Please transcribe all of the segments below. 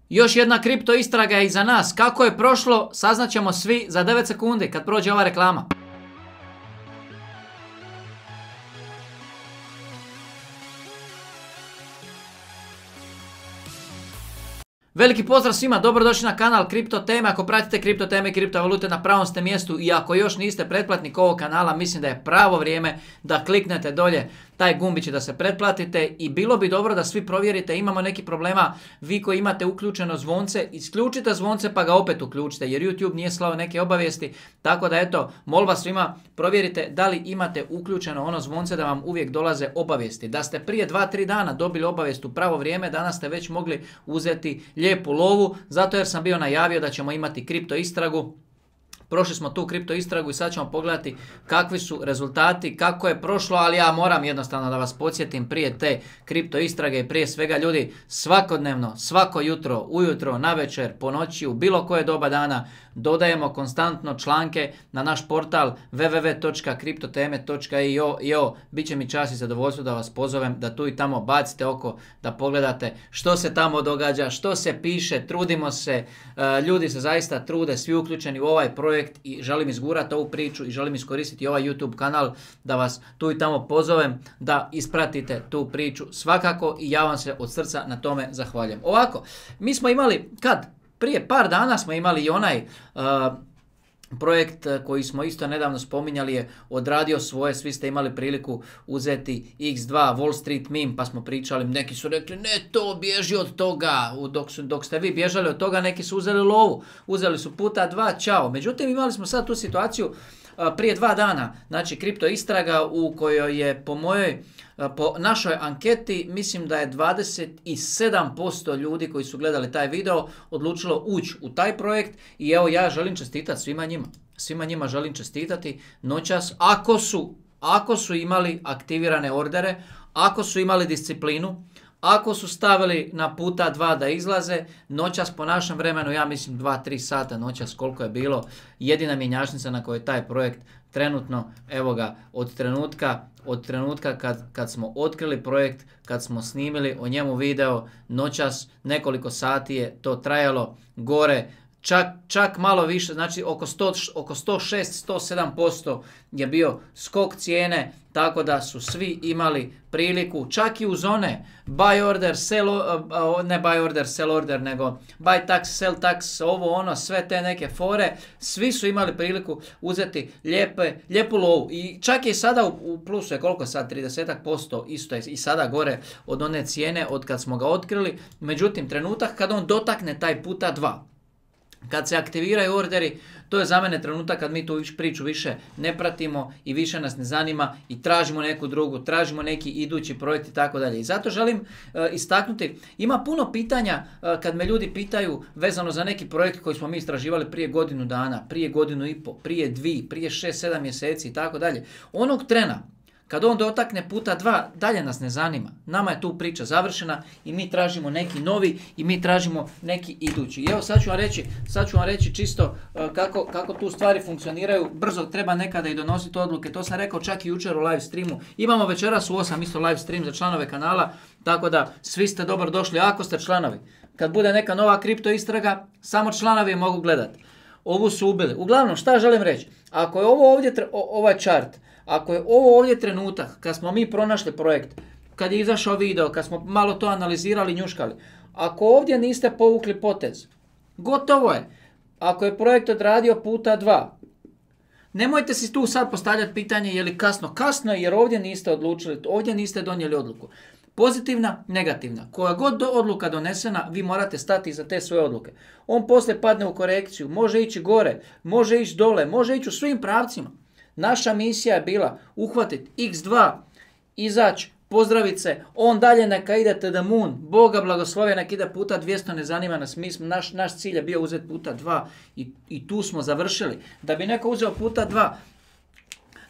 Još jedna kripto istraga je iza nas. Kako je prošlo, saznaćemo svi za 9 sekundi kad prođe ova reklama. Veliki pozdrav svima, dobrodošli na kanal Kripto Teme. Ako pratite kripto teme i kriptovalute, na pravom ste mjestu, i ako još niste pretplatnik ovog kanala, mislim da je pravo vrijeme da kliknete dolje taj gumbić da se pretplatite, i bilo bi dobro da svi provjerite, imamo neki problema, vi koji imate uključeno zvonce, isključite zvonce pa ga opet uključite, jer YouTube nije slao neke obavijesti, tako da eto, molba svima, provjerite da li imate uključeno ono zvonce da vam uvijek dolaze obavijesti. Da ste prije 2-3 dana dobili obavijest u pravo vrijeme, danas ste već mogli uzeti lijepu lovu, zato jer sam bio najavio da ćemo imati kripto istragu. Prošli smo tu kripto istragu i sad ćemo pogledati kakvi su rezultati, kako je prošlo, ali ja moram jednostavno da vas podsjetim prije te kripto istrage i prije svega, ljudi, svakodnevno, svako jutro, ujutro, navečer, po noći, u bilo koje doba dana dodajemo konstantno članke na naš portal www.kriptoteme.io. Biće mi čast i zadovoljstvo da vas pozovem da tu i tamo bacite oko, da pogledate što se tamo događa, što se piše, trudimo se, ljudi se zaista trude, svi uključeni u ovaj projekt, i želim izgurati ovu priču i želim iskoristiti ovaj YouTube kanal da vas tu i tamo pozovem da ispratite tu priču svakako, i ja vam se od srca na tome zahvaljujem. Ovako, mi smo imali, prije par dana smo imali i onaj projekt koji smo isto nedavno spominjali, je odradio svoje, svi ste imali priliku uzeti X2 Wall Street meme, pa smo pričali, neki su rekli ne, to bježi od toga, dok ste vi bježali od toga, neki su uzeli lovu, uzeli su puta 2, čao. Međutim, imali smo sad tu situaciju prije 2 dana, znači kripto istraga u kojoj je po našoj anketi, mislim da je 27% ljudi koji su gledali taj video odlučilo ući u taj projekt, i evo ja želim čestitati svima njima. Svima njima želim čestitati noćas, ako su imali aktivirane ordere, ako su imali disciplinu, ako su stavili na puta 2 da izlaze, noćas po našem vremenu, ja mislim 2-3 sata noćas koliko je bilo, jedina mjenjačnica na kojoj je taj projekt trenutno, evo ga, od trenutka kad smo otkrili projekt, kad smo snimili o njemu video, noćas nekoliko sati je to trajalo, gore čak malo više, znači oko 106-107% je bio skok cijene, tako da su svi imali priliku, čak i uz one buy order, ne buy order, sell order, nego buy tax, sell tax, ovo ono, sve te neke fore, svi su imali priliku uzeti lijepu lovu, i čak je i sada u plusu, je koliko sad, 30% isto je i sada gore od one cijene od kad smo ga otkrili. Međutim, trenutak kad on dotakne taj puta 2, kad se aktiviraju orderi, to je za mene trenutak kad mi tu priču više ne pratimo i više nas ne zanima i tražimo neku drugu, tražimo neki idući projekt i tako dalje. I zato želim istaknuti, ima puno pitanja kad me ljudi pitaju vezano za neki projekt koji smo mi istraživali prije godinu dana, prije godinu i pol, prije 2, prije 6-7 mjeseci i tako dalje. Onog trena kad on dotakne puta 2, dalje nas ne zanima. Nama je tu priča završena i mi tražimo neki novi i mi tražimo neki idući. I evo sad ću vam reći čisto kako tu stvari funkcioniraju. Brzo treba nekada i donositi odluke, to sam rekao čak i jučer u live streamu. Imamo večeras u 8 isto live stream za članove kanala, tako da svi ste dobro došli ako ste članovi. Kad bude neka nova kripto istraga, samo članovi mogu gledati. Ovu su ubili. Uglavnom, šta želim reći? Ako je ovo ovdje, ovaj chart, ako je ovo ovdje trenutak kad smo mi pronašli projekt, kad je izašao video, kad smo malo to analizirali, njuškali, ako ovdje niste povukli potez, gotovo je. Ako je projekt odradio puta 2, nemojte si tu sad postavljati pitanje je li kasno. Kasno je jer ovdje niste odlučili, ovdje niste donijeli odluku. Pozitivna, negativna. Koja god odluka donesena, vi morate stati iza te svoje odluke. On poslije padne u korekciju, može ići gore, može ići dole, može ići u svim pravcima. Naša misija je bila uhvatiti X2, izaći, pozdraviti se, on dalje neka ide to the moon, Boga blagoslovi, neka ide puta 200, ne zanima nas, naš cilj je bio uzeti puta 2 i tu smo završili. Da bi neko uzeo puta 2,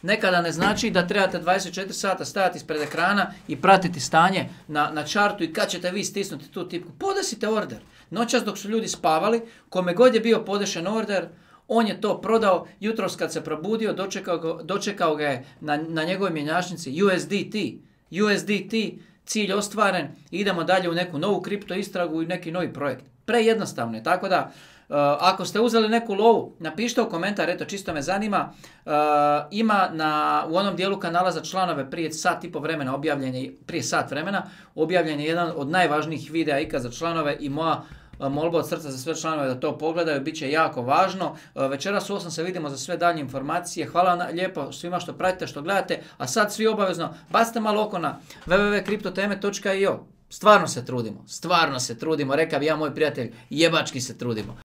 nekada ne znači da trebate 24 sata stajati ispred ekrana i pratiti stanje na čartu i kad ćete vi stisnuti tu tipku. Podesite order. Noćas dok su ljudi spavali, kome god je bio podešen order, on je to prodao, jutros kad se probudio, dočekao ga je na njegovoj mjenjačnici USDT, cilj ostvaren, idemo dalje u neku novu kripto istragu i neki novi projekt. Prejednostavno je, tako da ako ste uzeli neku lovu, napišite u komentar, eto čisto me zanima, ima u onom dijelu kanala za članove prije sat vremena objavljen je jedan od najvažnijih videa ikad za članove i moja molba od srca za sve članove da to pogledaju, bit će jako važno. Večeras u 8 se vidimo za sve dalje informacije. Hvala lijepo svima što pratite, što gledate, a sad svi obavezno bacite malo oko na www.kriptoteme.io. Stvarno se trudimo, reka bi ja moj prijatelj, jebački se trudimo.